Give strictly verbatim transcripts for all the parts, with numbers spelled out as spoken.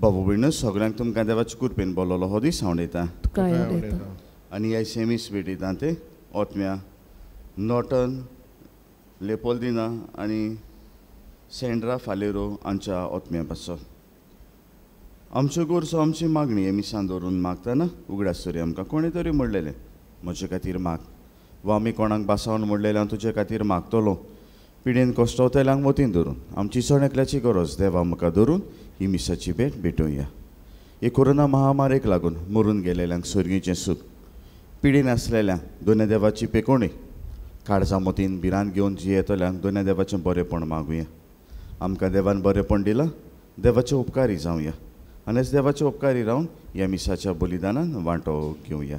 बाबू भयणू सगळ्यांक तुमकां देवाचे कृपेन बोलवलो हो दीस हांव उलयतां. आनी ह्या सेमीस भेटयता ते ओतम्या नॉर्टन लेपोल्दिना आनी सेंड्रा फालेरो हांच्या ओतम्या पासत. आमच्यो गरजो आमची मागणी हे मिसान दवरून मागतना उगडास तरी आमकां कोणें तरी म्हणलेलें म्हजे खातीर माग, वा आमी कोणाक बासावन म्हणलेलें हांव तुजे खातीर मागतलो. पिडेन कश्टवतल्यांक मतीन धरून आमची सण एकल्याची गरज देवा म्हाका धरून ही मिसाची भेट भेटोवया. हे कोरोना महामारेक लागून मरून गेलेल्यांक सर्गीचें सूख, पिडेन आसलेल्यांक दोन्या देवाची पेकोणी, काळजा मतीन भिरांत घेवन जियेतल्यांक दोन्या देवाचें बरेंपण मागुया. आमकां देवान बरेंपण दिलां, देवाचे उपकारी जावया आनी देवाचे उपकारी रावन ह्या मिसाच्या बलिदानान वांटो घेवया.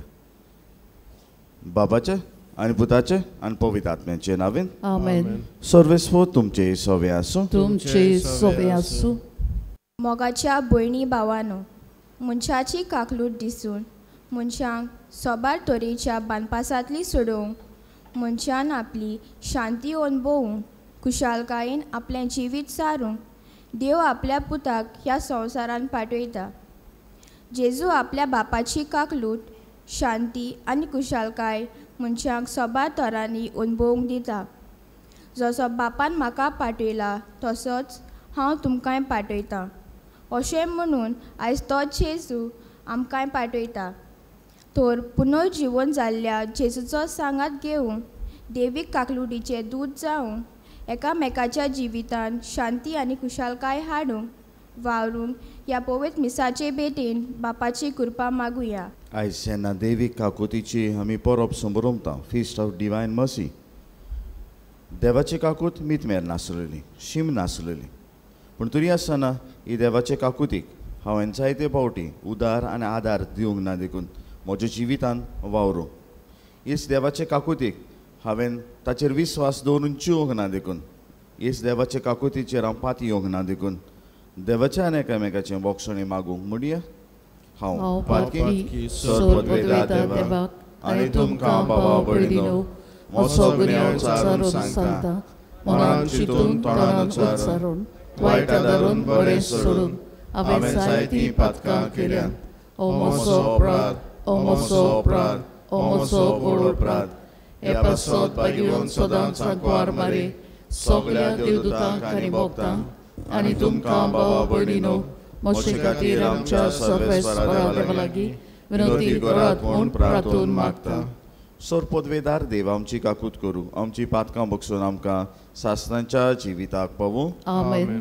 बाबाचे आनी पुताचे आनी पवित्र आत्म्याचे नांवेन आमेन. सर्वेस्व तुमचे सवे आसूं. तुमचे सवे आसूं. मोगाच्या भयणी भावानो, मनशाची काकलूट दिसून मनशांक सोबार तरेच्या बांदपासांतली सोडोवंक, मनशान आपली शांती अणभवूंक, खुशालकायेन आपलें जिवीत सारूंक देव आपल्या पुताक ह्या संवसारान पाठयता. जेजू आपल्या बापाची काकलूट, शांती आनी खुशालकाय मनशांक सोबार तरांनी अणभवूंक दिता. जसो बापान म्हाका पाठयला तसोच हांव तुमकांय पाठयतां अशें म्हणून आयज तोच जेजू आमकांय पाठयता. तर पुनर्जिवन जाल्ल्या जेजूचो सांगात घेवन देवीक काकलुटीचें दूद जावन एकामेकाच्या जिवितान शांती आनी खुशालकाय हाडूंक वावरूंक ह्या पवित्र मिसाचे भेटेन बापाची कृपा मागुया. आयज जेन्ना देवीक काकुतीची आमी परब समरमता, फिस्ट ऑफ डिवायन मर्सी, देवाची काकूत मितमेर नासलेली, शीम नासलेली, पूण तरी आसतना ही देवाचे काकुतीक हांवें जायते फावटी उदार आनी आदार दिवंक ना देखून म्हज्या जिवितान वावरूं. हीच देवाचे काकुतीक हांवें ताचेर विस्वास दवरून चिवंक ना देखून, हीच देवाचे काकुतीचेर हांव पाती येवंक ना देखून देवाच्या आनी एकामेकाचें बोगसणें मागूंक म्हणया. हांव पातकी सर्वपदवेदा देवाक आनी तुमकां बाबा भयणीनो म्हजो गुन्यांव उच्चारून सांगता, मनान चिंतून तोंडान उच्चारून वायट धरून बरें सोडून हांवें जायतीं पातकां केल्यांत. ओ म्हजो अपराध, ओ म्हजो अपराध, ओ म्हजो व्हड अपराध. हे पासत भाग्यवंत सदांच सांकवार मारे सगळ्या देवदूतांक आनी भक्तांक आनी तुमकां बाबा भयणीनो म्हजे खातीर आमच्या सर्वेस्परा देवा लागीं विनंती करात म्हूण प्रार्थून मागता. सर्वपदवेदार देव आमची काकूत करूं, आमची पातकां बगसून आमकां सासणाच्या जिविताक पावूं. आमेन.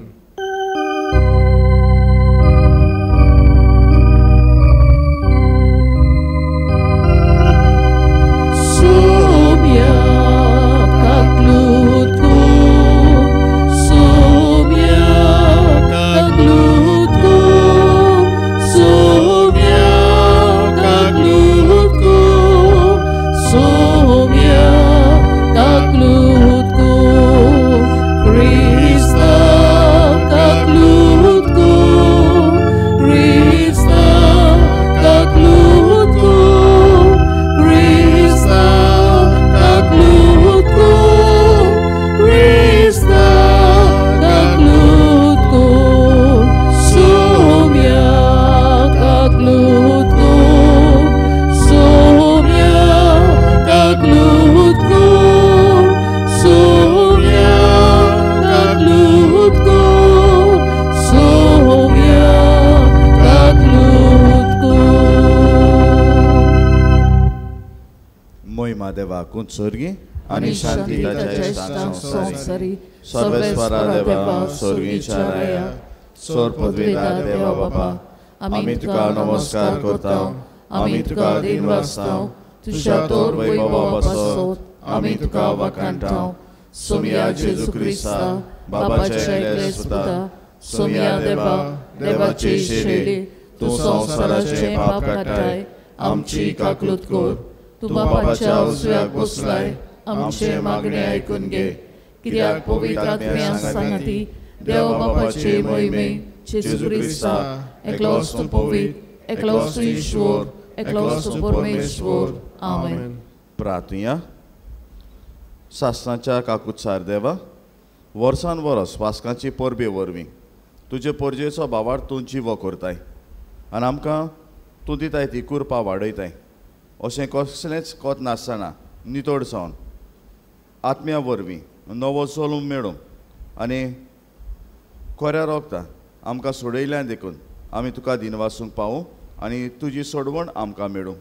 स्वर्गी आनी शांती ताच्या संवसारी सर्वेस्परा देवा स्वर्गीच्या राया सर्वपदवेदार देवा बापा, आमी तुका नमस्कार करता, आमी तुका दिनवासता, तुज्या तोर वैभवा पासत आमी तुका वाखाणटा. सोमया जेजू क्रिस्ता बाबाच्या एकल्या सुता, सोमया देवा देवाचे शेले, तूं संवसाराचें पाप काडटाय, आमची काकलूत कर. तूं बापाच्या उजव्याक बसलाय, आमचें मागणें आयकून घे. कित्याक पवित्र आत्म्या सांगाती देव बापाचे मोहिमे जेजू क्रिस्ता एकलोच तूं पवित्र, एकलोच तूं ईश्वर, एकलोच तूं परमेश्वर. आमेन. प्रार्थुया. सासणाच्या काकुत्सार देवा, वर्सान वरस वास्कांची परबे वरवीं तुजे पोरजेचो भावार तूं जिवो करताय आनी आमकां तूं दिताय ती कुरपा वाडयताय. अशें कसलेंच कोत नासतना नितळ जावन आत्म्या वरवीं नवो जल्म मेळूंक आनी खऱ्या रोगता आमकां सोडयल्यान देखून आमी तुका दिनवासूंक पावूं आनी तुजी सोडवण आमकां मेळूं.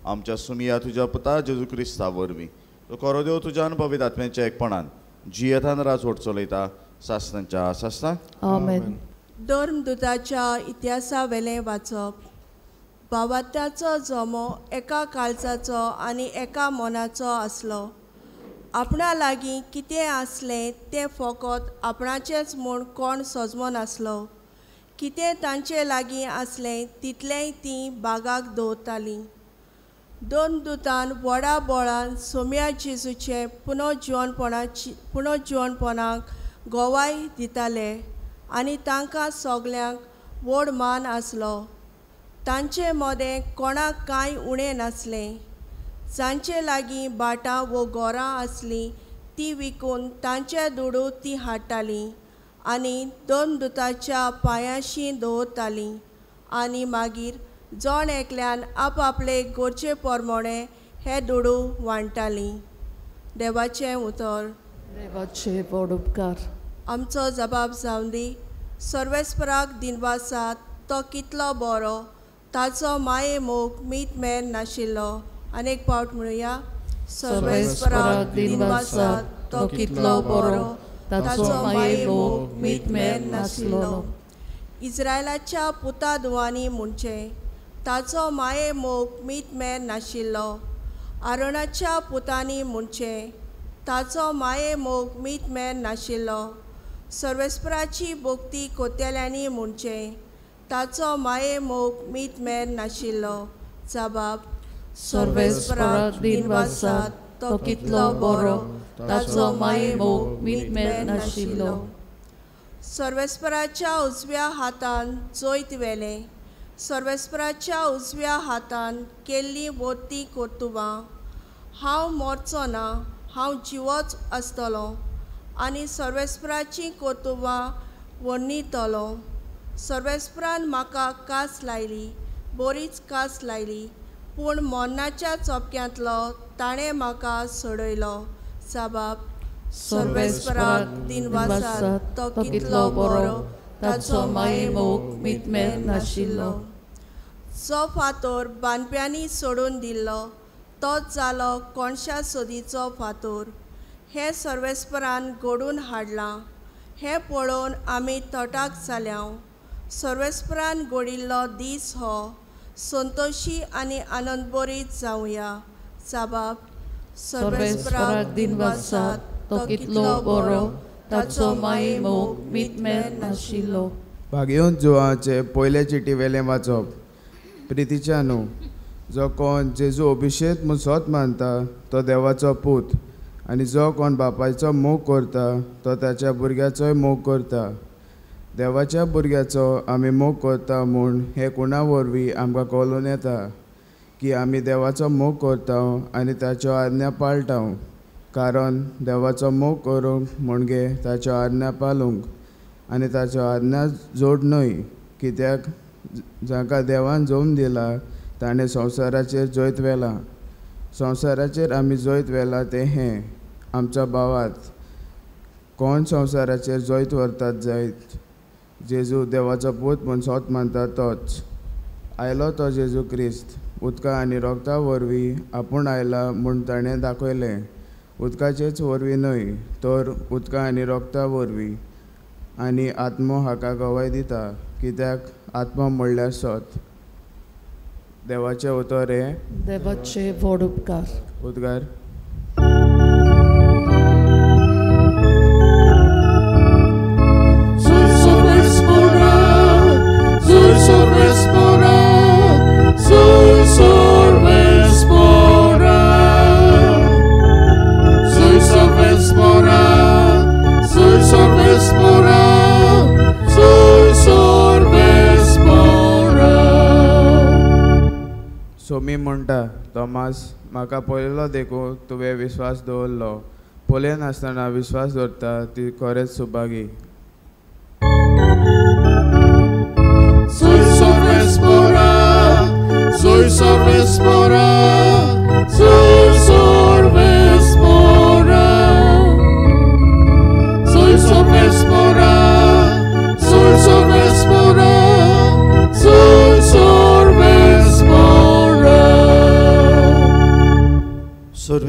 आमच्या सुमिया तुज्या पुता जेजू क्रिस्ता वरवीं तो खरो देव तुज्या पवित्र आत्म्याच्या एकपणान जियेतान राजवट चलयता सासणांच्या सासणाक. आमेन. धर्मदुताच्या इतिहासा वेलें वाचप. भावात्याचो जमो एका काळजाचो आनी एका मनाचो आसलो. आपणा लागीं कितें आसलें तें फकत आपणाचेंच म्हूण कोण सजमो नासलो. कितें तांचे लागीं आसलें तितलेंय तीं बागाक दवरतालीं. दोन दुतान व्हडा बोळान सोम्या जेजूचें पुनर्जिवनपणाची पुनर्जिवनपणाक गवाय दिताले आनी तांकां सगल्यांक व्हड मान आसलो. तांचे मदें कोणाक कांय उणें नासलें. जांचे लागीं भाटां वो गोरां आसलीं ती विकून तांचे दुडू ती हाडटालीं आनी दोन दुताच्या पांयांशी दवरतालीं आनी मागीर जण एकल्यान आपआपले गरजे प्रमाणे हे दुडू वांट्टालीं. देवाचें उतर. देवाचे व्हड उपकार. आमचो जबाब जावन दी. सर्वेस्पराक दिनवासात, तो कितलो बरो, ताचो माये मोग मीत मेर नाशिल्लो. अनेक पावट म्हणुया. सर्वेस्पराक दिनवासात, तो कितलो बरो, ताचो माये मोग मीत मेर नाशिल्लो. इस्रायलाच्या पुता दुवांनी म्हणचें, ताचो माये मोग मीत मेर नाशिल्लो. आरोणाच्या पुतांनी म्हणचें, ताचो माये मोग मीत मेर नाशिल्लो. सर्वेस्पराची भक्ती कोतेल्यांनी म्हणचें, ताचो माये मोग मीत मेर नाशिल्लो. जबाब. सर्वेस्पराक दिनवासात, तो कितलो बरो, ताचो माये मोग मीत मेर नाशिल्लो. सर्वेस्पराच्या उजव्या हातान जैत व्हेलें. सर्वेस्पराच्या उजव्या हातान केल्लीं वोती कर्तुबां. हांव मरचो ना, हांव जिवोच आसतलो आनी सर्वेस्पराचीं कर्तुबां वर्णितलो. सर्वेस्परान म्हाका कास लायली, बरीच कास लायली, पूण मरणाच्या चपक्यांतलो ताणें म्हाका सोडयलो. जबाब. सर्वेस्पराक दिनवासात, तो कितलो बरो, ताचो माये मोग मीत मेर नाशिल्लो. जो फातोर बांदप्यांनी सोडून दिल्लो तोच जालो कोणशा सोदीचो फातोर. हें सर्वेस्परान घडून हाडलां, हें पळोवन आमी तटाक जाल्या. सर्वेस्परान घडिल्लो दीस हो, संतोशी आनी आनंदभरीत जावया. जबाब. सर्वेस्पराक दिनवासात, तो कितलो बरो, ताचो माये मोग मीत मेर नाशिल्लो. भाग्योन जुवाचे पयले चिटी वेलें वाचप. प्रितीच्या न्हू, जो कोण जेजू अभिशेक म्हूण सोत मानता तो देवाचो पूत, आनी जो कोण बापायचो मोग करता तो ताच्या भुरग्याचोय मोग करता. देवाच्या भुरग्याचो आमी मोग करता म्हूण हें कोणा वरवीं आमकां कळून येता की आमी देवाचो मोग करता आनी ताच्यो आज्ञा पाळटा. कारण देवाचो मोग करूंक म्हणजे ताच्यो आज्ञा पाळूंक, आनी ताच्यो आज्ञा जोड न्हय, कित्याक जांकां देवान जल्म दिला ताणें संवसाराचेर जैत व्हेलां. संवसाराचेर आमी जैत व्हेलां तें हें आमच्या भावात. कोण संवसाराचेर जैत व्हरतात जायत? जेजू देवाचो पूत म्हूण सोत मानता तोच. आयलो तो जेजू क्रिस्त उदका आनी रोगता वरवीं आपूण आयला म्हूण ताणें दाखयलें. उदकाचेच वरवीं न्हय, तर उदका आनी रोगता वरवीं. आनी आत्मो हाका गवाय दिता, कित्याक आत्मो म्हणल्यार सत. देवाचें उतर हें. देवाचे व्हड उपकार. उद्गार. सोमी म्हणटा, तोमास, म्हाका पळयलो देखून तुवें विस्वास दवरलो. पळयनासतना विस्वास दवरता ती खरेंच सुभागी.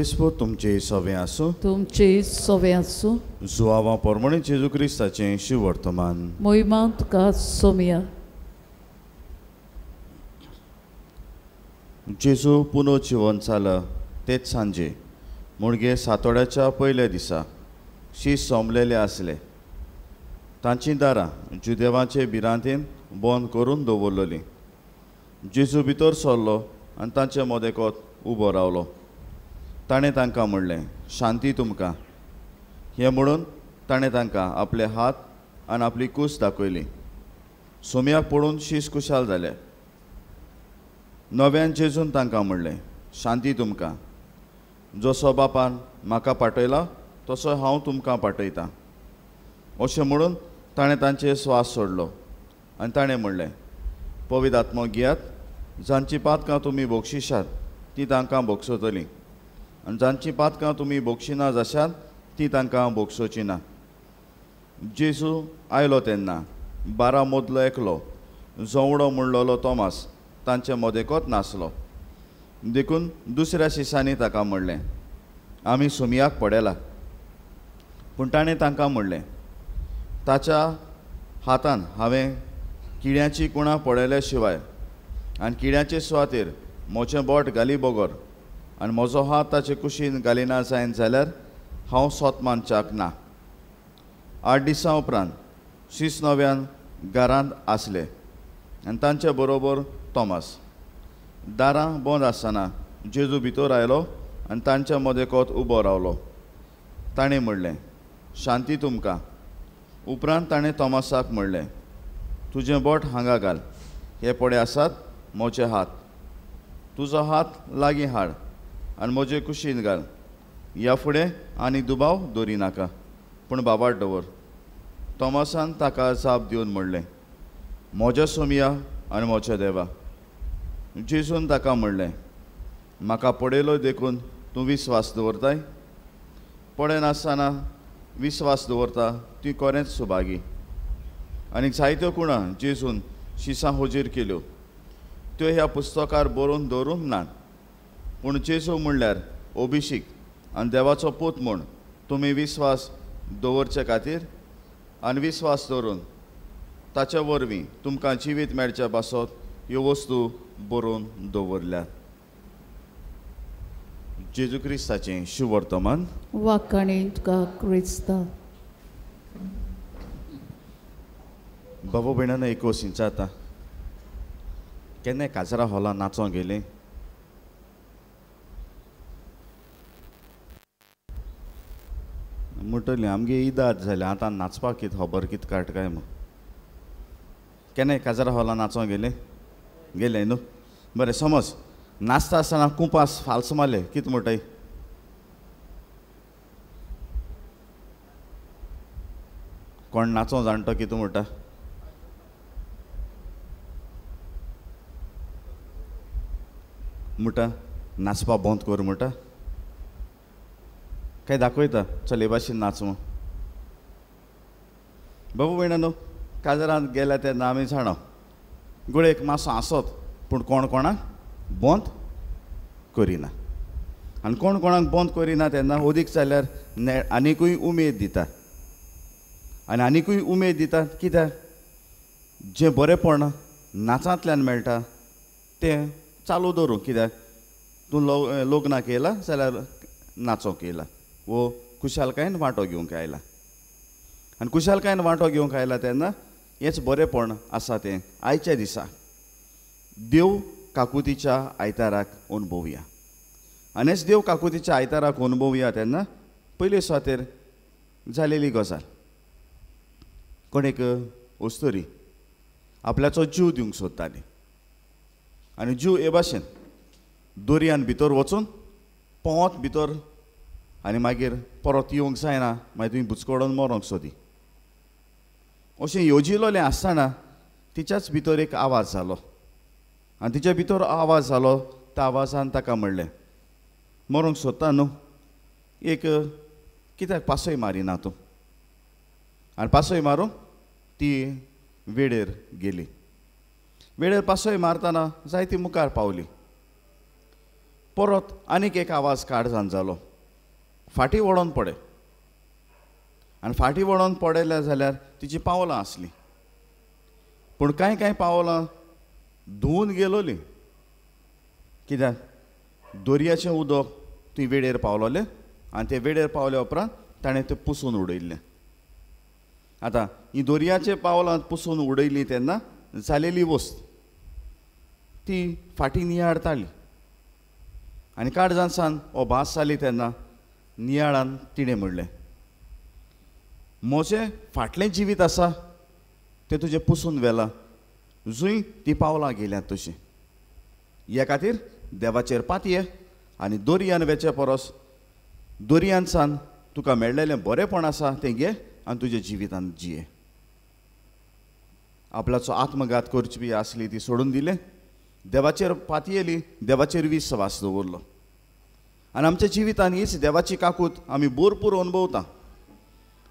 क्रिस्त तुमचे सवे आसूं. तुमचे सवे आसूं. जुआवा परमणे जेजू क्रिस्ताचें शिवर्तमान. मोहिमा तुका सोमिया. जेजू पुनर्जिवन जाला तेच सांजे मुणगे सातोड्याच्या पयल्या दिसा शीस सोंपलेले आसले. तांचीं दारां जुदेवाचे भिरांतेन बंद करून दवरलेलीं. जेजू भितर सरलो आनी तांचे मदेकोत उबो रावलो. ताणें तांकां म्हणलें, शांती तुमकां. हें म्हणून ताणें तांकां आपले हात आनी आपली कूस दाखयली. सोम्याक पळोवन शीस खुशाल जाले. नव्यान जेजून तांकां म्हणलें, शांती तुमकां. जसो बापान म्हाका पाठयला तसो हांव तुमकां पाठयतां. अशें म्हणून ताणें तांचे स्वास सोडलो आनी ताणें म्हणलें, पवित्र आत्मो घेयात. जांचीं पातकां तुमी बक्षिशात तीं तांकां बक्षतलीं आनी जांचीं पातकां तुमी बक्षिना जाशात तीं तांकां बक्षोचीं ना. जेजू आयलो तेन्ना बारा मदलो एकलो जोवडो म्हणलेलो तोमास तांचे मदेकोत नासलो. देखून दुसऱ्या शिसांनी ताका म्हणलें, आमी सोमयाक पडयला. पूण ताणें तांकां म्हणलें, ताच्या हातान हांवें किड्यांची कुणां पळयल्या शिवाय आनी किड्यांचे सुवातेर म्हजें बोट घाली बगर आनी म्हजो हात ताचे कुशीन घालिना जायन जाल्यार हांव सोत मानच्याक ना. आठ दिसां उपरांत शीस नव्यान घरांत आसले आनी तांचे बरोबर तोमास. दारां बंद आसतना जेजू भितर आयलो आनी तांच्या मदेकोत उबो रावलो. ताणें म्हणलें, शांती तुमकां. उपरांत ताणें तोमासाक म्हणलें, तुजें बोट हांगा घाल, हे पळय आसात म्हजे हात. तुजो हात लागीं हाड आनी म्हजे कुशीन घाल. ह्या फुडें आनी दुबाव दवरी नाका, पूण बाबार दवर. तोमासान ताका जाप दिवन म्हणलें, म्हज्या सोमया आनी म्हज्या देवा. जेजून ताका म्हणलें, म्हाका पळयलो देखून तूं विस्वास दवरताय? पळयनासतना विस्वास दवरता ती कोरेंच सुभागी. आनी जायत्यो कुणां जेजून शिसां हुजीर केल्यो, त्यो ह्या पुस्तकार बरोवन दवरूंक नात. पूण जेजू म्हणल्यार अभिषेक आनी देवाचो पूत म्हूण तुमी विस्वास दवरचे खातीर आनी विस्वास दवरून ताचे वरवीं तुमकां जिवीत मेळचे पासत ह्यो वस्तू बरोवन दवरल्यात. जेजू क्रिस्ताचें शुवर्तमान. वाखाणी तुका क्रिस्ता. बाबा भयणान एक वशींचा आतां केन्नाय काजरा हॉलान नाचोंक गेलीं? म्हणटली आमगे इदाद जाल्या आतां नाचपाक कितें खबर कितें काडटा काय म्हूण. केन्नाय काजरा हॉलान नाचोंक गेलें? गेलें न्हू. बरें, समज नाचता आसतना कुंपास फाल्स मारले, कितें म्हणटाय? कोण नाचों जाणटो कितें म्हणटा? म्हणटा नाचपा बंद कर म्हणटा काय दाखयता चल हे भाशेन नाच म्हूण. बाबू भयणा न्हू, काजरांत गेल्या तेन्ना आमी जाणा गुळेक मातसो आसत, पूण कोण कोणाक बंद करिना. आनी कोण कोणाक बंद करिना तेन्ना अदीक जाल्यार आनिकूय उमेद दिता. आनी आनिकूय उमेद दिता कित्याक? जें बरेंपण नाचांतल्यान मेळटा तें चालू दवरूं. कित्याक तूं लग्नाक येयला जाल्यार नाचोंक येयला वो खुशालकायेन वांटो घेवंक आयला. आनी खुशालकायेन वांटो घेवंक आयला तेन्ना हेंच बरेंपण आसा तें आयच्या दिसा देव काकुतीच्या आयताराक अणभवया. आनी हेच देव काकुतीच्या आयताराक अणभवया तेन्ना पयले सुवातेर जालेली गजाल, कोण एक अस्तुरी आपल्याचो जीव दिवंक सोदताली आनी जीव हे भाशेन दर्यान भितर वचून पोंवत भितर आनी मागीर परत येवंक जायना, मागीर तुमी बुचकडून मरोंक सोदी. अशें येवजिलोलें आसतना तिच्याच भितर एक आवाज जालो आनी तिच्या भितर आवाज जालो त्या आवाजान ताका म्हणलें, मरोंक सोदता न्हू, एक कित्याक पासय मारिना तूं? आनी पासय मारूंक ती वेळेर गेली. वेळेर पासय मारतना जायती मुखार पावली. परत आनीक एक आवाज काळजान जालो, फाटीं वळोन पडय. आनी फाटीं वळोन पडयलें जाल्यार तिची पावलां आसलीं, पूण कांय कांय पावलां धुवून गेलोलीं. कित्याक दर्याचें उदक थंय वेळेर पावलोलें आनी ते वेळेर पावल्या उपरांत ताणें तें पुसून उडयल्लें. आतां ही दर्याचे पावलां पुसून उडयलीं तेन्ना जालेली वस्त ती फाटीं नियाळताली आनी काळजान सान हो भास जाली तेन्ना नियाळान तिणें म्हणलें, म्हजें फाटलें जिवीत आसा तें तुजें पुसून व्हेलां, जंय ती पावलां गेल्यात तशीं. ह्या खातीर देवाचेर पातये आनी दर्यान वेचे परस दर्यान सान तुका मेळ्ळेलें बरेंपण आसा तें घे आनी तुज्या जिवितान जिये. आपल्याचो आत्मघात करची बी आसली ती सोडून दिलें, देवाचेर पातयेली, देवाचेर विस्वास दवरलो. आनी आमच्या जिवितान हीच देवाची काकूत आमी भरपूर अनुभवता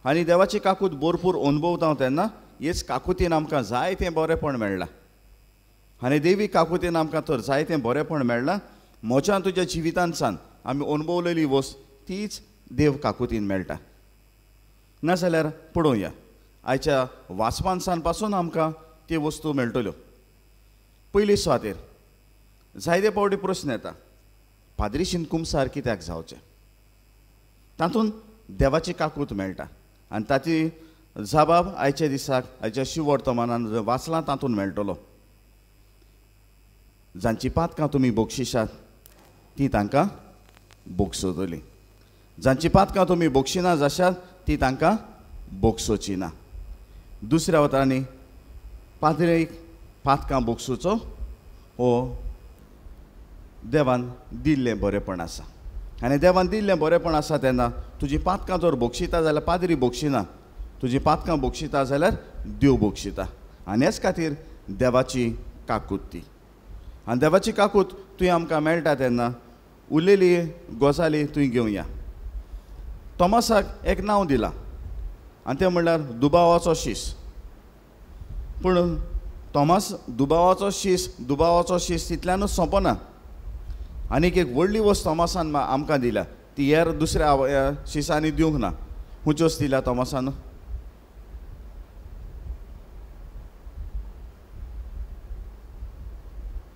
आनी देवाची काकूत भरपूर अनुभवता तेन्ना हेच काकुतीन आमकां जायतें बरेंपण मेळ्ळां आनी देवी काकुतीन आमकां तर जायतें बरेंपण मेळ्ळां. म्हज्या तुज्या जिवितान सान आमी अनुभवलेली वस्त तीच देव काकुतीन मेळटा. नाजाल्यार पळोवया आयच्या वाचपान पासून आमकां त्यो वस्तू मेळटल्यो. पयली सुवातेर जायते फावटी प्रस्न येता, पाद्रीशीन कुमसार कित्याक जावचें? तातूंत देवाची काकूत मेळटा आनी ताची जबाब आयच्या दिसाक आयच्या शिवर्तमानान वाचलां तातूंत मेळटलो. जांची पातकां तुमी बक्षिशात ती तांकां बोगसतली, जांची पातकां तुमी बक्षिना जाशात ती तांकां बोगसोची ना. दुसऱ्या उतरांनी पाद्रीक पातकां बोगसुचो हो देवान दिल्लें बरेंपण आसा आनी देवान दिल्लें बरेंपण आसा तेन्ना तुजी पातकां जर बोगशिता जाल्यार पाद्री बोगशिना, तुजी पातकां बोगशिता जाल्यार देव बोगशिता. आनी हेच खातीर देवाची काकूत ती आनी देवाची काकूत तुवें आमकां मेळटा तेन्ना उरलेली गजाली तुवें घेवया. तोमासाक एक नांव दिलां आनी तें म्हणल्यार दुबावाचो शीस. पूण तोमास दुबावाचो शीस दुबावाचो शीस तितल्यानूच सोंपना. आनीक एक व्हडली वस्त तोमासान आमकां दिल्या ती हेर दुसऱ्या शिसांनी दिवंक ना. खंयच्योच दिल्या तोमासान?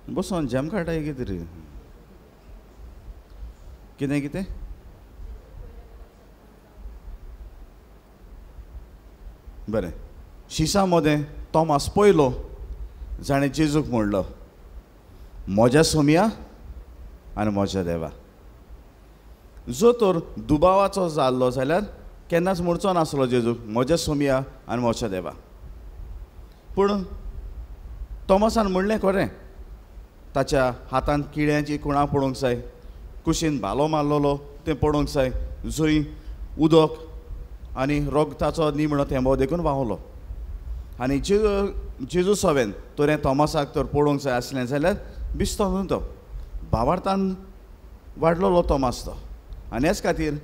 बसोन जेम काडटा कितें रे? कितें कितें? बरें, शिसा मदें तोमास पयलो जाणें जेजूक म्हणलो, म्हज्या सोमया आनी म्हज्या देवा. जो तर दुबावाचो जाल्लो जाल्यार केन्नाच म्हणचो नासलो जेजूक म्हज्या सोमया आनी म्हज्या देवा. पूण तोमासान म्हणलें खरें, ताच्या हातान किड्यांची कुणां पळोवंक जाय, कुशीन भालो मारलेलो तें पळोवंक जाय, जंय उदक आनी रोगताचो निमणो थेंबो देखून व्हांवलो. आनी जेजू जेजू सवेन तर हें तोमासाक तर पळोवंक जाय आसलें जाल्यार बिस्तो न्हू तो, भावार्थान वाडलेलो तोमास तो. आनी हेच खातीर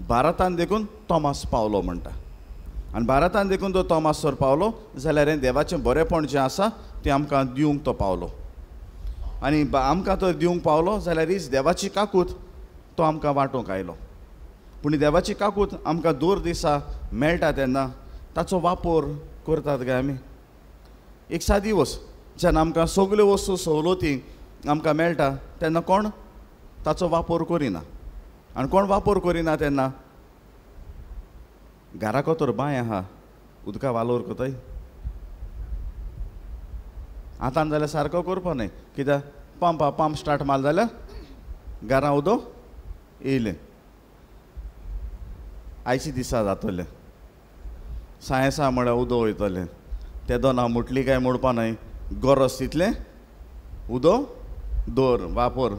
भारतान देखून तोमास पावलो म्हणटा. आनी भारतान देखून तो तोमास तर पावलो जाल्यार हें देवाचें बरेंपण जें आसा तें आमकां दिवंक तो पावलो. आनी आमकां तो दिवंक पावलो जाल्यार हीच देवाची काकूत तो आमकां वांटूंक आयलो. पूण देवाची काकूत आमकां दर दिसा मेळटा तेन्ना ताचो वापर करतात काय आमी? एक सादी वस्त जेन्ना आमकां सगल्यो वस्तू सवलती आमकां मेळटा तेन्ना कोण ताचो वापर करिना. आनी कोण वापर करिना तेन्ना घराको तर बांय आहा, उदका वालोर कोताय आतां जाल्यार सारको करपा न्हय, कित्याक पंप पंप स्टार्ट मारलो जाल्यार घरां उदक येयलें. आयचे दिसा जातलें सायेसा म्हळ्यार उदक वयतलें, तेदोना मुटली काय मोडपा न्हय, गरज तितलें उदक दवर वापर.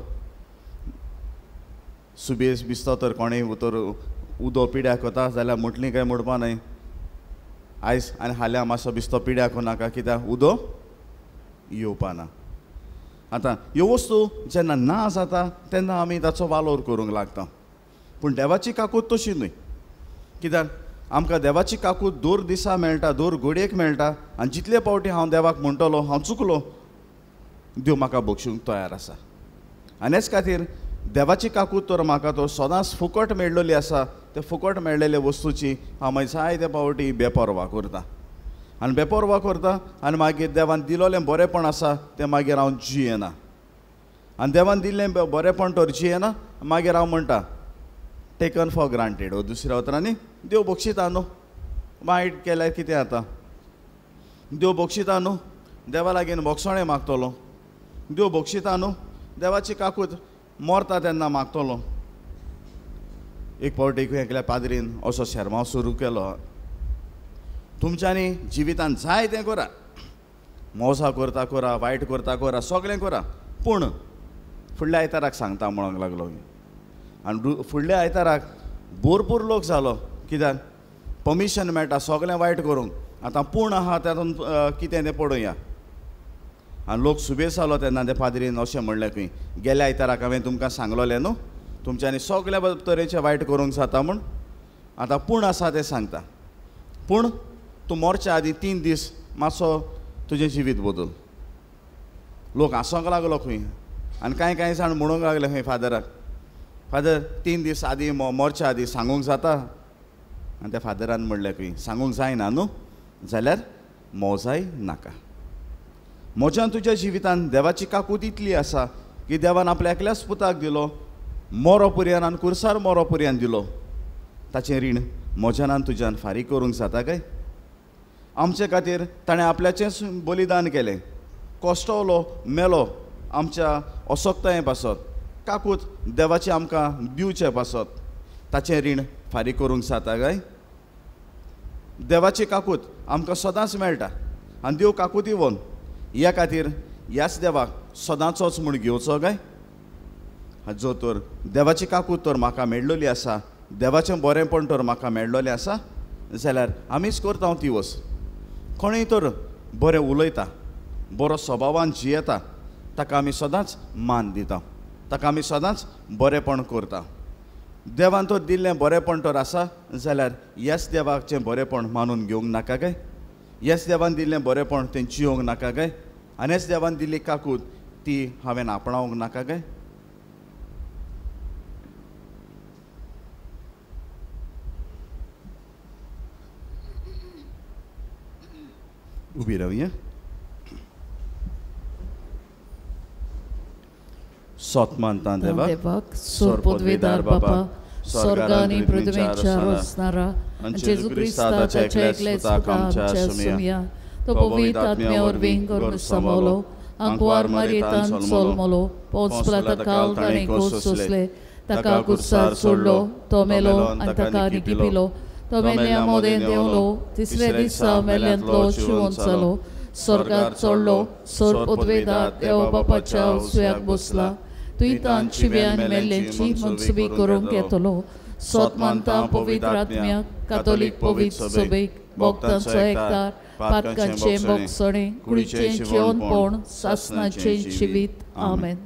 सुबेज बिस्तो तर कोणूय तर उदक पिड्याक वता जाल्यार मुटली काय मोडपा न्हय. आयज आनी हाल्यां मातसो बिस्तो पिड्याक नाका, कित्याक उदक येवपा ना. आतां ह्यो वस्तू जेन्ना ना जाता तेन्ना आमी ताचो वालोर करूंक लागता. पूण देवाची काकूत तशी न्हय, कित्याक आमकां देवाची काकूत दर दिसा मेळटा, दर घडयेक मेळटा. आनी जितले फावटी हांव देवाक म्हणटलो हांव चुकलो, देव म्हाका बक्षूंक तयार आसा. आनी हेच खातीर देवाची काकूत तर म्हाका तो सदांच फुकट मेळ्ळली आसा, ते फुकट मेळ्ळेले वस्तूची हांव मागीर जायते पावटी बेपर्वा करता आनी बेपर्वा करता आनी मागीर देवान दिलोलें बरेंपण आसा तें मागीर हांव जियेना आनी देवान दिल्लें बरेंपण तर जियेना, मागीर हांव म्हणटा टेकन फॉर ग्रांटेड. हो दुसऱ्या उतरांनी देव बक्षिता न्हू, वायट केल्यार कितें जाता, देव बक्षिता न्हू, देवा लागीं बोगसणें मागतलो, देव बक्षिता न्हू, देवाची काकूत मरता तेन्ना मागतलो. एक फावट एक एकल्या पाद्रीन असो शेरमांव सुरू केलो, तुमच्यांनी जिवितान जाय तें करा, मोसा करता करा, वायट करता करा, सगळें करा, पूण फुडल्या आयताराक सांगता म्हणूंक लागलो. आनी फुडल्या आयताराक भरपूर लोक जालो, कित्याक पर्मिशन मेळटा सगळें वायट करूंक, आतां पूण आहा तातूंत कितें तें पळोवया. आनी लोक सुबेज जालो तेन्ना ते पाद्रीन अशें म्हणलें खंय, गेल्या आयताराक हांवें तुमकां सांगलोलें न्हू तुमच्यांनी सगळ्या तरेचें वायट करूंक जाता म्हूण, आतां पूण आसा तें सांगता, पूण तूं मरच्या आदीं तीन दीस मातसो तुजें जिवीत बदल. लोक हांसोंक लागलो खंय आनी कांय कांय जाण म्हणूंक लागले खंय फादराक, फादर तीन दीस आदीं मरच्या आदीं सांगूंक जाता? आनी त्या फादरान म्हणलें खंय, सांगूंक जायना न्हू, जाल्यार मोजाय नाका. म्हज्यान तुज्या जिवितान देवाची काकूत इतली आसा की देवान आपल्या एकल्याच पुताक दिलो, मोरो पुरयान आनी कुर्सार मोरो पुरयान दिलो, ताचें रीण म्हज्यान आनी तुज्यान फारीक करूंक जाता काय? आमचे खातीर ताणें आपल्याचेंच बलिदान केलें, कश्टवलो, मेलो आमच्या असक्ताये पासत, काकूत देवाची आमकां दिवचे पासत, ताचें रीण फारीक करूंक जाता काय? देवाची काकूत आमकां सदांच मेळटा आनी देव काकूत येवन ह्या खातीर ह्याच देवाक सदांचोच म्हूण घेवचो काय? जो तर देवाची काकूत तर म्हाका मेळ्ळली आसा, देवाचें बरेंपण तर म्हाका मेळ्ळलें आसा, जाल्यार आमीच करता ती वस्त. कोणूय तर बरें उलयता, बरो स्वभावान जियेता, ताका आमी सदांच मान दिता, ताका आमी सदांच बरेंपण करता. देवान तर दिल्लें बरेंपण तर आसा जाल्यार ह्याच देवाचें बरेंपण मानून घेवंक नाका काय? ह्याच देवान दिल्लें बरेंपण तें जियोंक नाका काय? आनी ह्याच देवान दिल्ली काकूत ती हांवें आपणावंक नाका काय? उबी रावया. सोत मानता देवाक, सोर पदवीदार बापा, स्वर्ग आनी पृथ्वीच्या रचणारा आनी जेजू क्रिस्ताच्या एकल्याच पुता आमच्या सुमया, तो पवित्र आत्म्या वरवीं गर्भ सांबाळलो, आंकवार मारयेतान जल्मलो, पोंच काल ताणें खोस सोंसले, ताका कुर्सार सोडलो, तो मेलो आनी ताका निकिपिलो, तो मेल्ल्या मोदें देंवलो, तिसऱ्या दिसा मेल्ल्यांतलो जिवंत जालो, स्वर्गार चडलो, सोर पदवेदार देव बापाच्या उजव्याक बसला, तुयतान शिव्यान मेल्ल्यांची मनसुबी करूंक येतलो. सोत मानता पवित्र आत्म्याक, कातोलीक पवित्र सभेक, भक्तांचो एकतार, पातकांचें भोगसणें, कुडीचें जिवनपण, सासनाचें जिवीत. आमेन.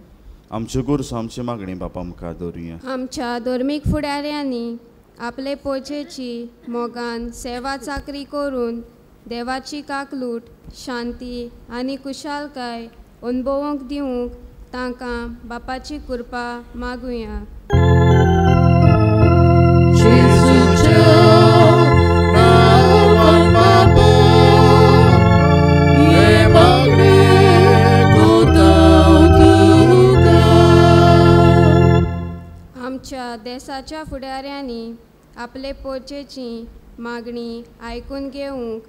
आमच्यो गरजो आमची मागणी बापा मुखार दवरुया. आमच्या धर्मीक फुडाऱ्यांनी आपले पोचेची मोगान सेवा चाकरी करून देवाची काकलूट, शांती आनी कुशालकाय अनुभवूंक दिवंक तांकां बापाची कृपा मागुया. आमच्या देशाच्या फुडाऱ्यांनी आपले पोचेची मागणी आयकून घेवंक,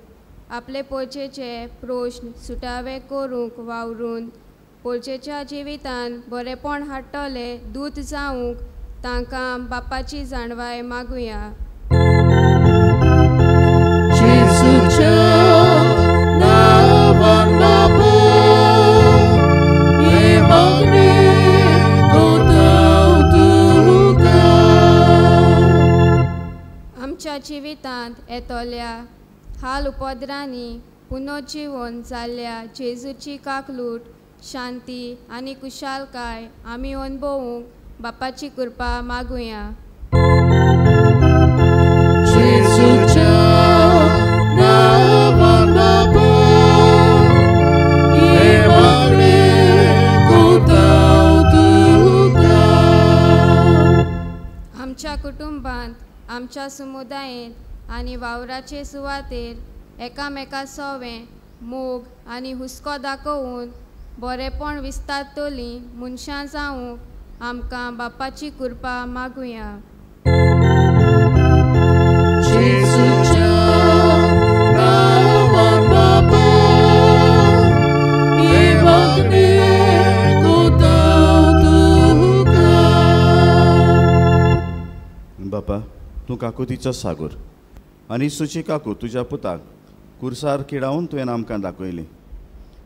आपले पोचेचे प्रश्न सुटावे करूंक वावरून पोचेच्या जिवितान बरेंपण हाडटले दूत जावंक तांकां बापाची जाणवाय मागुया. आमच्या जिवितांत येतल्या हाल उपद्रांनी पुनर्जिवन जाल्ल्या जेजूची काकलूट, शांती आनी कुशालकाय आमी अनुभवूंक बापाची कृपा मागुया. कुटुंबांत, आमच्या समुदायेंत आनी वावराचे सुवातेर एकामेका सोवें मोग आनी हुस्को दाखोवन बरेपण विस्तारतलीं मनशां जावंक आमकां बापाची कृपा मागुया. बापा, तूं काकुतीचो सागोर आनी सुची काकू तुज्या पुताक कुर्सार किडावन तुवें आमकां दाखयली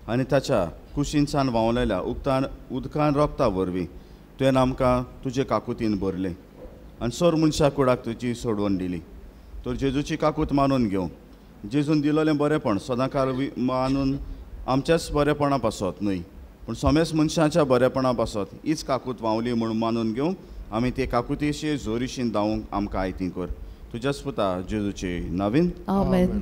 आनी ताच्या कुशीनसान व्हांवलेल्या उदकान उदकान रोगता वरवीं तुवें आमकां तुजे काकुतीन भरलें आनी सोर मनशा कुडाक तुजी सोडवण दिली. तर जेजूची काकूत मानून घेवं, जेजून दिलोलें बरेंपण सदांकाळ मानून आमच्याच बरेपणा पासत न्हय पूण समेस मनशाच्या बरेपणा पासत हीच काकूत व्हांवली म्हूण मानून घेवंक आमी ते काकुतीशी जोरीशीन धांवूंक आमकां आयती कर. तुज्याच पुता जेजूचे नवीन. आमेन.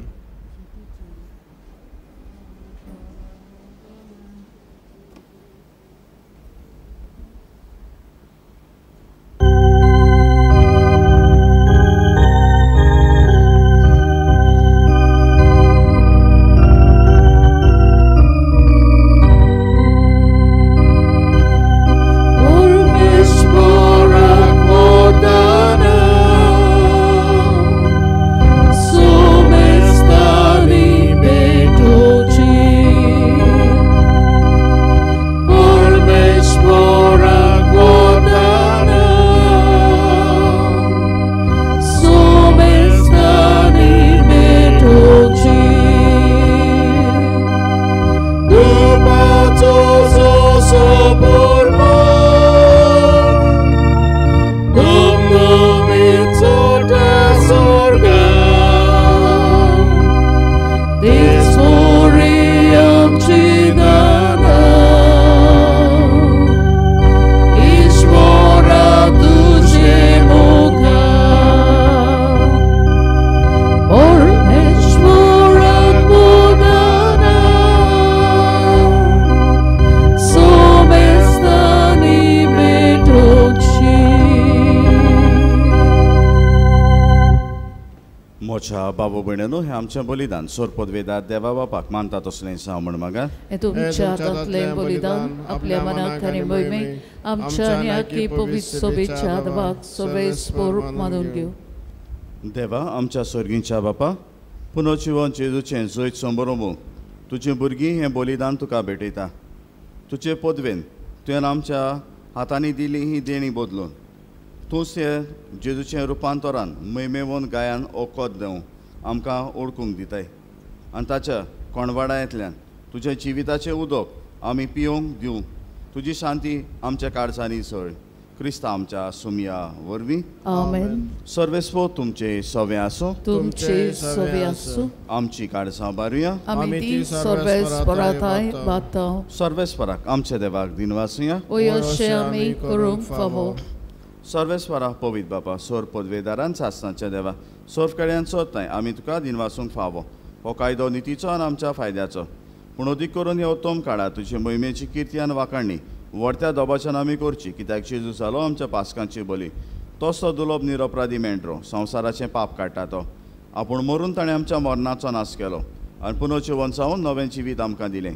बाबू भयणीनो, हें आमचें बलिदान सोर पदवेदार देवा बापाक मानता तसलें साव म्हण मागा. हें तुमच्या हातांतलें बलिदान आपल्या मनाक आनी मोहिमेक आमच्या आनी आखी पवित्र सोबेच्या देवाक सोबेस्पोर मानून घेवं. देवा आमच्या सर्गींच्या बापा, पुनर्जिवन जेजूचें जैत संबरोवंक तुजीं भुरगीं हें बलिदान तुका भेटयता. तुजे पदवेन तुवें आमच्या हातांनी दिली ही देणी बदलून तूंच हे जेजूचें रुपांतरान मैमेवन गायान ओकोत दिवं आमकां ओळखूंक दिताय आनी ताच्या कोणवाडांतल्यान तुज्या जिविताचें उदक आमी पिवंक दिवं. तुजी शांती आमच्या काळजांनी सळ क्रिस्ता आमच्या सुमया वरवीं. आमेन. सर्वेस्पो तुमचे सवे आसूं. तुमचे सवे आसूं. आमची काळजां बारुया. आमी ती सर्वेस्पराथाय बाता. सर्वेस्पराक आमच्या देवाक दिनवासुया. अशें आमी करूंक फावो. सर्वेस्वरा पवित्र बापा, सोर पदवेदारान सासणाच्या देवा, सोर कड्यान सोदताय आमी तुका दिनवासूंक फावो. हो कायदो नितीचो आनी आमच्या फायद्याचो, पूण अदीक करून हे उत्तम काळार तुजे मोहिमेची किर्ती आनी वाखाणणी व्हडत्या दोबाच्यान आमी करची, कित्याक जेजू जालो आमच्या पासकांची बली. तोच तो दुलोब निरपराधी मेंढरो संवसाराचें पाप काडटा तो. आपूण मरून ताणें आमच्या मरणाचो नाश केलो आनी पुनर्जिवन जावन नवें जिवीत आमकां दिलें.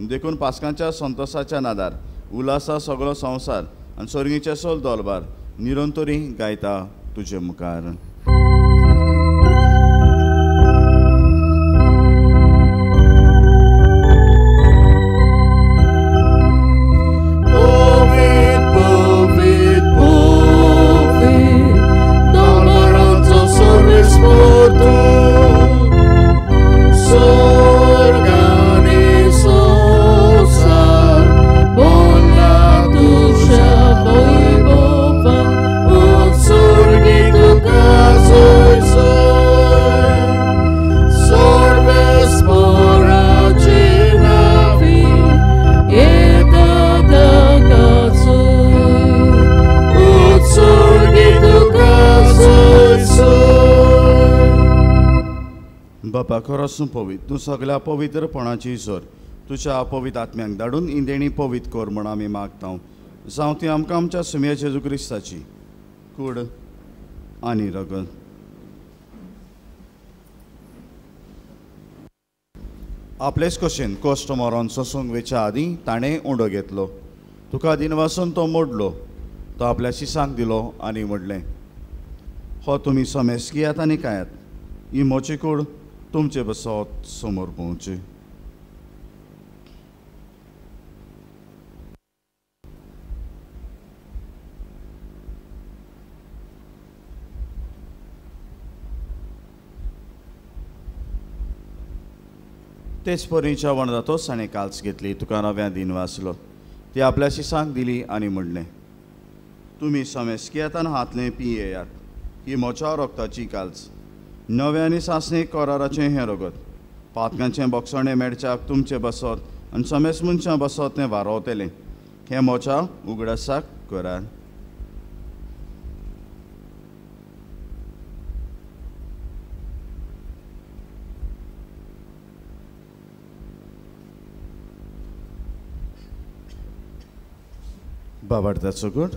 देखून पासकांच्या संतोसाच्या नादार उल्हासा सगळो संवसार आनी सर्गीचें सोल दोलबार निरंतरी गायता तुजे मुखार. बापा, खरोच तूं पवित्र, तूं सगळ्या पवित्रपणाची जोर. तुज्या पवित्र आत्म्यांक धाडून इंदेणी पवित्र कर म्हण आमी मागता. जावं ती आमकां आमच्या सुमया जेजू क्रिस्ताची कूड आनी रगत. आपलेच कशेन कश्ट मरोन सोसूंक वेच्या आदीं ताणें उंडो घेतलो. तुका दिनवासून तो मोडलो. तो आपल्या शिसांक दिलो आनी म्हणलें, हो तुमी समेस घेयात आनी खायात. ही म्हजी कूड तुमचे बसत समोर पळोवची. तेच परी जेवण जातोच ताणें काल्स घेतली. तुका नव्या दिन वाचलो. ती आपल्या शिसांक दिली आनी म्हणलें, तुमी समेस घेयात आनी हातलें पियेयात. ही म्हज्या रगताची काल्स, नव्या आनी सासणी कराराचें हें रगत. पातकांचें बोगसणें मेळच्याक तुमचें बसत आनी समेस मनशां बसत तें वारोवतलें. हें म्हज्या उगडासाक करात. बाबार्थाचो गूण.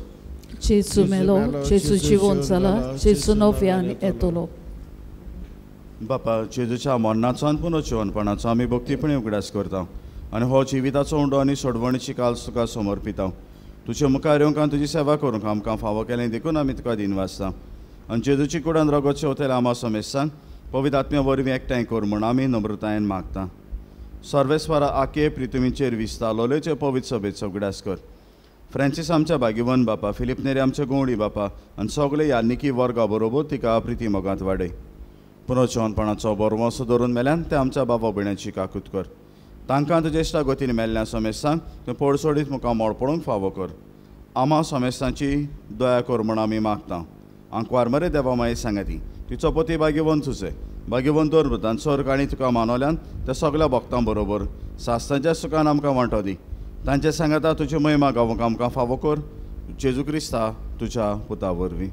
जेजू मेलो, जेजू जिवोन जाला, जेजू नव्यान येतलो. बापा, जेजूच्या मरणाचो आनी पुनर्जिवनपणाचो आमी भक्तीपणी उगडास करता आनी हो जिविताचो उंडो आनी सोडवणीची काल्स तुका समर्पिता. तुजे मुखार येवंक आनी तुजी सेवा करूंक आमकां फावो केलें देखून आमी तुका दिनवासता. आनी जेजूची कुडान रगत शेवतल्या आमा समेस्तांक पवित्र आत्म्या वरवीं एकठांय कर म्हूण आमी नम्रतायेन मागता. सर्वेस्वरा आके प्रितुमीचेर विस्ता लोलयेचे पवित्र सभेचो उगडास कर. फ्रांसीस आमच्या भाग्यवन बापा, फिलीप नेरी आमच्या गोवणी बापा आनी सगळे यानिकी वर्गा बरोबर तिका प्रिती मोगांत वाडय. पुनर्जिवनपणाचो बरवंसो धरून मेल्यान ते आमच्या बाबा भयणाची काकूत कर. तांकां तुज्या इश्टा गतीन मेल्ल्या समेस्तांक तूं पडसोडीत मुखार मोड पडूंक फावो कर. आमा समेस्तांची दया कर म्हूण आमी मागता. आंकवार मरे देवा माई सांगाती तिचो पती भाग्यवंत सुचे भाग्यवंत दर सर्ग आनी तुका मानवल्यान त्या सगळ्या भक्तां बरोबर सास्तांच्या सुखान आमकां वांटो दी. तांचे सांगाता तुजी महिमा गावंक आमकां फावो कर. जेजू क्रिस्ता तुज्या पुता वरवीं.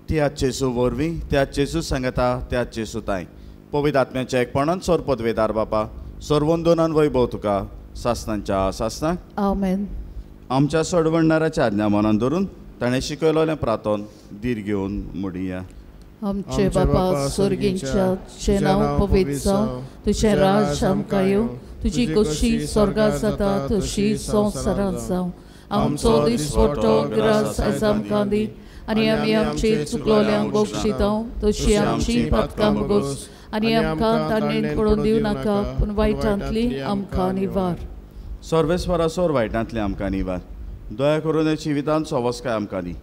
त्याच जेजू वरवीं, त्याच जेजू सांगाता, त्याच जेजू ताय पवित्र आत्म्याच्या एकपणान सोर पदवेदार बापा सर्वंदोनान वैभव तुका सासनांच्या सासनाक. आमेन. आमच्या सोडवणणाराच्या आज्ञा मनान धरून ताणें शिकयलें प्रातोन धीर घेवन मुडिया. आमचे बापा स्वर्गींच्या, तुजें नांव पवित्र जावं, तुजें राज आमकां येवं, तुजी खोशी स्वर्गांत जाता तशी संवसारांत जावं. आमचो दिसपट्टो ग्रास आयज आमकां दी आनी आमी आमची चुकलोल्यांक बक्षिता तशी आमची पातकां भोगोस आनी आमकां ताणें पडून दिवं नाका, पूण वायटांतली आमकां निवार. सर्वेस्वरा सोर वायटांतली आमकां निवार. दया करून जिवितांत सवस्काय आमकां दी.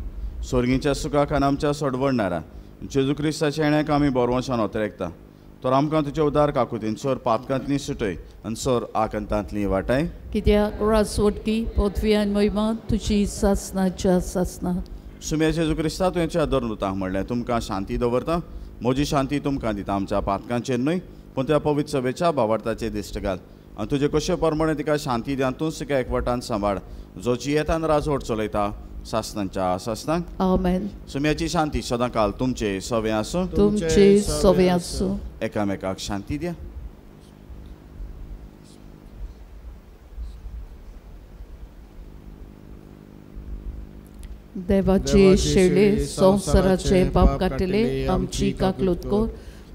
स्वर्गींच्या सुखाक आनी आमच्या सोडवणणारा जेजू क्रिस्ताच्या येण्याक आमी बरवंशान ओतरेकता. तर आमकां तुजे उदार काकुतीन सोर पातकांतली सुटय आनी सोर आकंतांतली वाटाय. कित्याक राजवटकी पदवी आनी महिमा तुजी सासनाच्या सासना. सुम्या जेजू क्रिस्ता तुवें दर म्हणलें, तुमकां शांती दवरता, म्हजी शांती तुमकां दिता. आमच्या पातकांचेर न्हय पूण त्या पवित्र सभेच्या भावार्थाचेर दिश्ट घाल आनी तुजे कशे प्रमाणे तिका शांती दी आनी तूंच तिका एकवटान सांबाळ, जो जियेतान राजवट चलयता सासनांच्या सासनाक. आमेन. सुम्याची शांती सदांकाल तुमचे सवे आसूं, तुमचे सवे आसूं. एकामेकाक शांती द्या. देवाचे शेळे संवसाराचे पाप काडटले आमची काकलूत कर.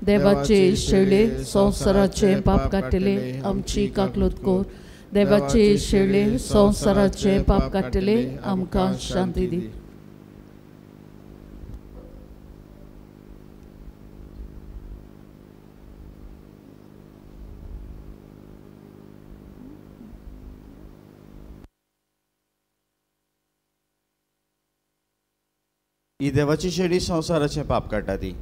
देवाचे शेळे संवसाराचे पाप काडटले आमची काकलूत कर. देवाचे शेळे संवसाराचे पाप काडटले आमकां शांती दी. ही देवाची शेडी संवसाराचें पाप काडटा ती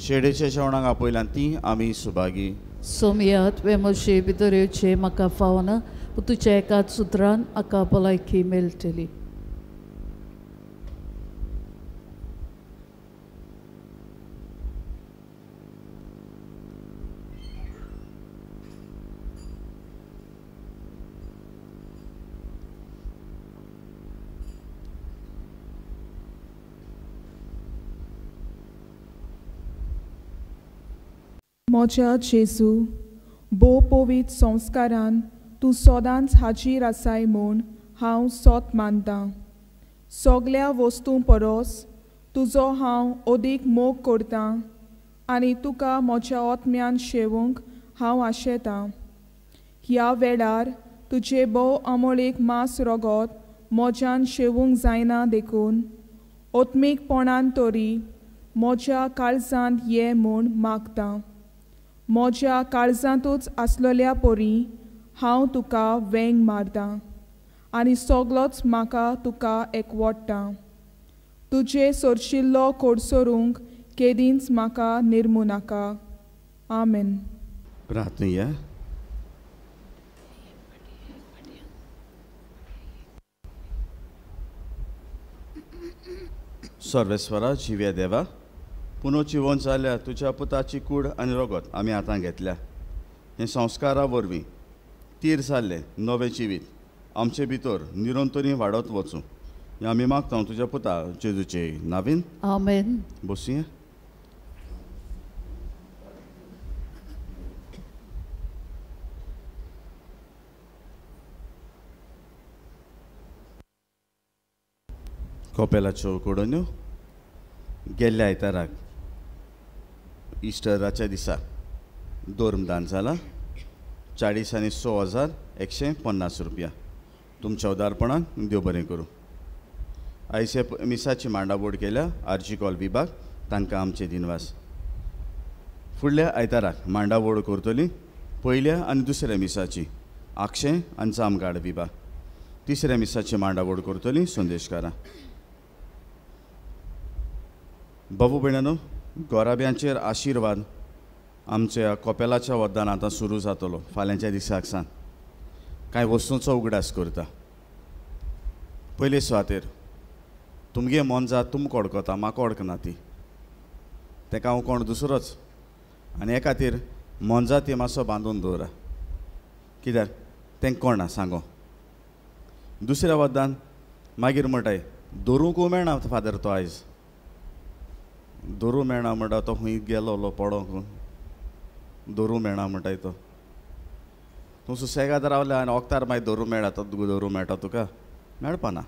शेडीच्या जेवणाक आपयल्यान ती आमी सुभागी. सोमया तुवें म्हजे भितर येवचें म्हाका फावना, पूण तुज्या एकाच सुत्रान म्हाका भलायकी मेळटली. म्हज्या जेजू, भोव पवित्र संस्कारान तूं सदांच हाजीर आसाय म्हूण हांव सोत मानतां. सगल्या वस्तूं परस तुजो हांव अदीक मोग करतां आनी तुका म्हज्या आत्म्यान शेवूंक हांव आशेतां. ह्या वेळार तुजे भोव अमोळीक मास रगत म्हज्यान शेवूंक जायना देखून आत्मीकपणान तरी म्हज्या काळजांत ये म्हूण मागतां. म्हज्या काळजांतूच आसलेल्या परी हांव तुका वेंग मारतां आनी सगलोच म्हाका तुका एकवडटा. तुजे सरशिल्लो कडसरूंक केदींच म्हाका निर्मू नाका. आमेन. प्रार्थनया. सर्वेस्वरा जिव्या देवा, पुनो जिवन जाल्या तुज्या पुताची कूड आनी रगत आमी आतां घेतल्या. हे संस्कारा वरवीं तीर जाल्लें नवें जिवीत आमचे भितर निरंतरी वाडत वचूं हें आमी मागता तुज्या पुता जेजूचे नावीन. आमेन. बसया. कोपेलाच्यो कडन्यो गेल्ल्या आयताराक इस्टराच्या दिसा दोर्मदान जाला चाळीस आनी स हजार एकशे पन्नास रुपया. तुमच्या उदारपणान देव बरें करूं. आयज मिसाची मांडावळ केल्या आरजी कॉल विभाग तांकां आमचे दिनवास. फुडल्या आयताराक मांडावळ करतली पयल्या आनी दुसऱ्या मिसाची आक्षें आनी जामगाड विभाग. तिसऱ्या मिसाची मांडावळ करतली संदेशकारां. बाबू भयणानो, गोराब्यांचेर आशिर्वाद आमच्या कोपेलाच्या वद्दान आतां सुरू जातलो फाल्यांच्या दिसाक सान. कांय वस्तूंचो उगडास करता. पयले सुवातेर तुमगे मोनजात तुमकां वळखता, म्हाका वळखना ती, तेका हांव कोण दुसरोच. आनी हे खातीर मोनजाती मातसो बांदून दवरा, कित्याक तेंका कोण ना सांगो. दुसऱ्या वद्दान मागीर म्हणटाय दवरूंक मेळना फादर तो आयज दवरूं मेळना म्हणटा तो खंय गेलो पडोंक दवरूं मेळना म्हणटाय तो. तूं सुसेगाद रावल्या आनी वखदार मागीर दवरूं मेळटा तो दवरूं मेळटा तुका मेळपाना.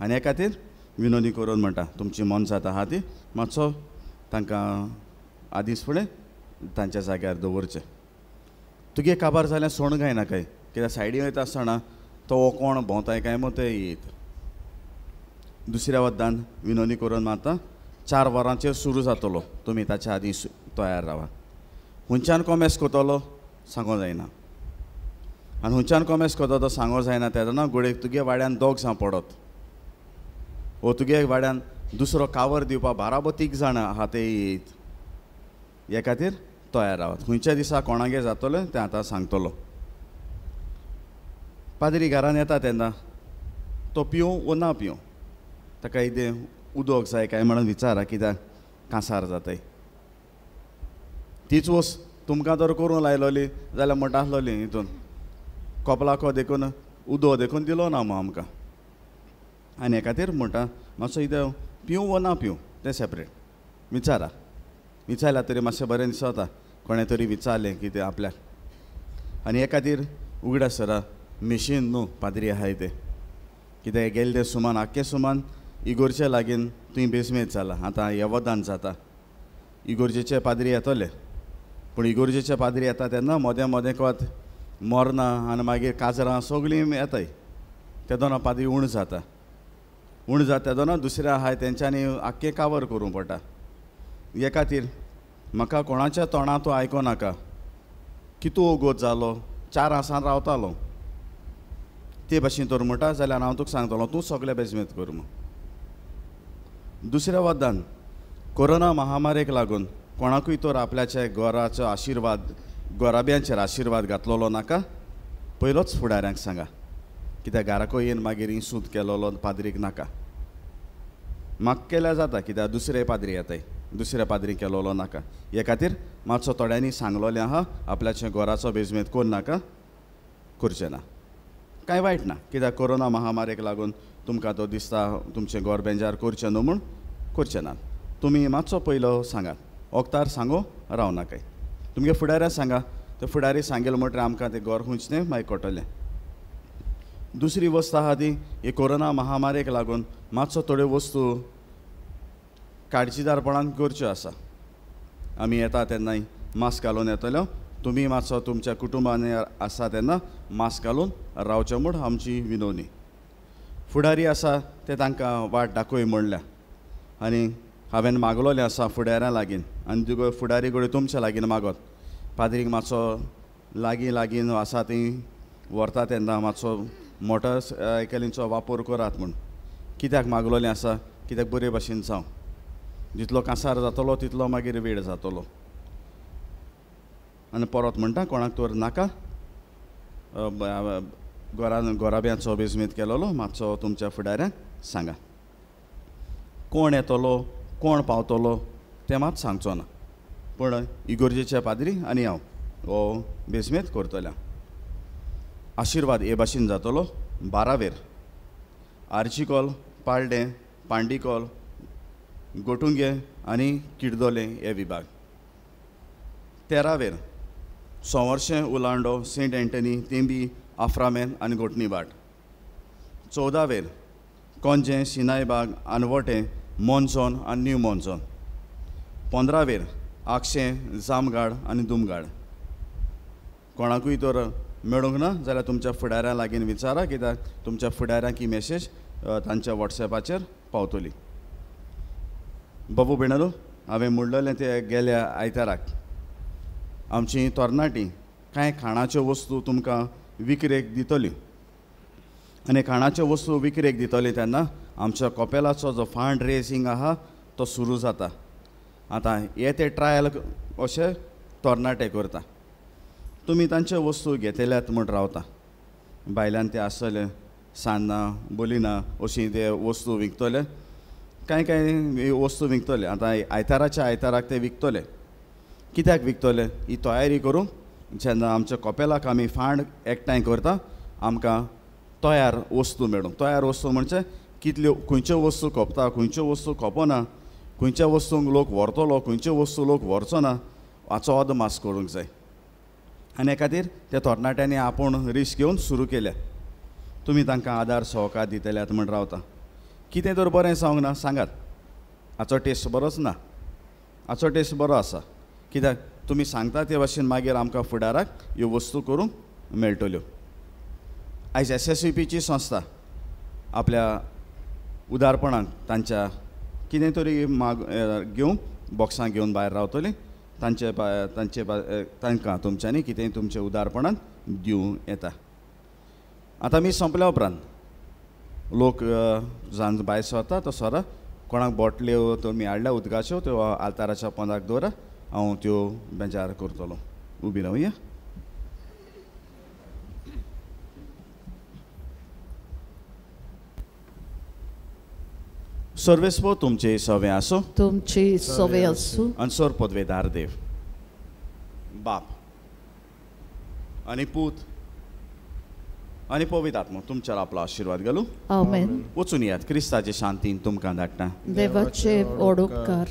आनी हे खातीर विनोदी करून म्हणटा तुमची मोनजात आहा ती मातसो तांकां आदींच फुडें तांच्या जाग्यार दवरचें. तुगे काबार जाल्यार सोण गायना काय, कित्याक सायडी वयता आसतना तो कोण भोंवताय काय मग ते येत. दुसऱ्या वद्दान विनोदी करून मारता चार वरांचेर सुरू जातलो, तुमी ताच्या आदीं तयार रावा. खंयच्यान कोमेस करतलो सांगो जायना आनी खंयच्यान कोमेस करता तो सांगो जायना तेन्ना गोडेक तुगे वाड्यान दोग जावं पडत वो तुगे वाड्यान दुसरो कावर दिवपा बाराबो तीग जाणां आहा ते येत. हे खातीर तयार रावात. खंयच्या दिसा कोणागे जातलें तें आतां सांगतलो. पाद्री घरान येता तेन्ना तो पिवं वो ना पिवं ताका कितें उदक जाय काय म्हणून विचारा, कित्याक कांसार जाताय. तीच वस्त तुमकां तर करूंक लायलोली जाल्यार म्हणटा आसलोली हितून कोपलाको देखून उदक देखून दिलो ना मग आमकां. आनी हे खातीर म्हणटा मातसो कितें पिवं वो ना पिवं तें सेपरेट विचारा. विचारल्यार तरी मातशें बरें दिसता कोणें तरी विचारलें कितें आपल्याक. आनी हे खातीर उगडास सरा मिशीन न्हू पाद्री आहाय तें, कित्याक गेले तें सुमान आख्खें सुमान इगोरचे लागीं तुंय बेजमेज जाला. आतां येवदान जाता इगोर्जेचे पाद्री येतले, पूण इगोर्जेचे पाद्री येता तेन्ना मोदें मोदें कोत मोरना आनी मागीर काजरां सगळीं येताय तेदोना पाद्री उण जाता. उण जाता तेदोना दुसऱ्या आहाय तेंच्यांनी आख्खें कावर करूंक पडटा. हे खातीर म्हाका कोणाच्या तोंडांत आयको नाका कितू ओगोत जालो चार आसान रावतालो ते भाशेन तर म्हणटा जाल्यार हांव तुका सांगतलो तूं सगळें बेजमेत कर म्हूण. दुसऱ्या वद्दान कोरोना महामारेक लागून कोणाकूय तर आपल्याच्या घराचो आशिर्वाद गोराब्यांचेर आशिर्वाद घातलेलो नाका पयलोच फुडाऱ्यांक सांगा, कित्याक घराको येवन मागीर इसूत केलोलो पाद्रीक नाका. म्हाका केल्यार जाता कित्याक दुसरे पाद्री येताय दुसऱ्या पाद्री केलोलो नाका. हे खातीर मातसो थोड्यांनी सांगलोलें आहा आपल्याच्या घराचो बेजमेत कोण नाका करचें ना. कांय वायट ना, कित्याक कोरोना महामारेक लागून तुमकां तो दिसता तुमचें घर बेंजार करचें न्हू म्हूण करचें ना. तुमी मातसो पयलो सांगात, वखदार सांगो राव नाकाय. तुमगे फुडाऱ्याक सांगा, ते फुडारी सांगेल म्हणटकीर आमकां तें घर खंयचें तें मागीर कळटलें. दुसरी वस्त आहा ती हे कोरोना महामारेक लागून मातसो थोड्यो वस्तू काळजीदारपणान करच्यो आसा. आमी येता तेन्नाय मास्क घालून येतलो, तुमी मातसो तुमच्या कुटुंबान आसा तेन्ना मास्क घालून रावचें म्हूण आमची विनवणी. फुडारी आसा ते तांकां वाट दाखय म्हणल्या आनी हांवें मागलोलें आसा फुडाऱ्यां लागीं आनी तुगो फुडारी कडेन तुमच्या लागीं मागत पाद्रीक मातसो लागीं लागीं आसा ती व्हरता तेन्ना मातसो मोटरसायकलींचो वापर करात म्हूण. कित्याक मागलोलें आसा, कित्याक बरे भाशेन जावं, जितलो कांसार जातलो तितलो मागीर वेळ जातलो. आनी परत म्हणटा कोणाक तर नाका घरान घराब्यांचो बेजमेत केलोलो मातसो तुमच्या फुडाऱ्यांक सांगा. कोण येतलो कोण पावतलो तें मात सांगचो ना, पूण इगोर्जेच्या पाद्री आनी हांव हो बेजमेत करतल्या. आशिर्वाद हे भाशेन जातलो बारावेर आर्चिकॉल, पाळडें, पांडीकॉल, गोटुंगे आनी किर्दोले हे विभाग. तेरावेर सोवर्शें, उलांडो, सेंट एंटनी, तेंबी, आफ्रामेन आनी गोटणीबाट. चवदावेर कोंजें, सिनायबाग, आनवटें, मोन्सोन आनी न्यू मोन्सोन. पंदरावेर आगशें, जामगाड आनी दुमगाड. कोणाकूय तर मेळूंक ना जाल्यार तुमच्या फुडाऱ्यां लागीं विचारा, कित्याक तुमच्या फुडाऱ्यांक ही मॅसेज तांच्या वॉट्सएपाचेर पावतली. बाबू बेणालो, हांवें म्हणलेलें तें गेल्या आयताराक आमची तरणाटी कांय खाणाच्यो वस्तू तुमकां विकरेक दितली आनी खाणाच्यो वस्तू विकरेक दितली तेन्ना आमच्या कॉपेलाचो जो फंड रेजींग आहा तो सुरू जाता. आतां हे ते ट्रायल अशे तरणाटे करता, तुमी तांच्यो वस्तू घेतल्यात म्हूण रावता, भायल्यान ते आसतले सान्नां बोलिनां अशीं ते वस्तू विकतले, कांय कांय वस्तू विकतले. आतां आयताराच्या आयताराक ते विकतले. कित्याक विकतले ही तयारी करूंक जेन्ना आमच्या कॉपेलाक आमी फंड एकठांय करता आमकां तयार वस्तू मेळूंक. तयार वस्तू म्हणजे कितल्यो खंयच्यो वस्तू खपता, खंयच्यो वस्तू खपना, खंयच्या वस्तूंक लोक व्हरतलो, खंयच्यो वस्तू लोक व्हरचो ना हाचो अदमास करूंक जाय. आनी हे खातीर त्या तरणाट्यांनी आपूण रिस्क घेवन सुरू केल्या. तुमी तांकां आदार सहकार दितल्यात म्हूण रावता. कितें तर बरें जावंक ना सांगात, हाचो टेस्ट बरोच ना, हाचो टेस्ट बरो आसा, कित्याक तुमी सांगता ते भाशेन मागीर आमकां फुडाराक ह्यो वस्तू करूंक मेळटल्यो. आयज एस एस सी पीची संस्था आपल्या उदारपणान तांच्या कितें तरी माग घेवन बॉक्सां घेवन भायर रावतली, तांचे तांचे तांकां तुमच्यांनी कितेंय तुमच्या उदारपणान दिवं येता. आतां मी सोंपल्या उपरांत लोक जावन भायर सरता तो सरा कोणाक बोटल्यो तुमी हाडल्या उदकाच्यो त्यो आल्ताराच्या पोंदाक दवरा, हांव त्यो बेजार करतलो. उबी रावया. सर्वेस्पो तुमचे सवे आसो, तुमचे सवे आसो. आनी पदवेदार देव बाप आनी पूत आनी पवित्र आत्मो तुमच्यार आपलो आशिर्वाद घालू. आमेन. वचून यात, क्रिस्ताचे शांतीन तुमकां धाडटा. देवाचे व्हड उपकार.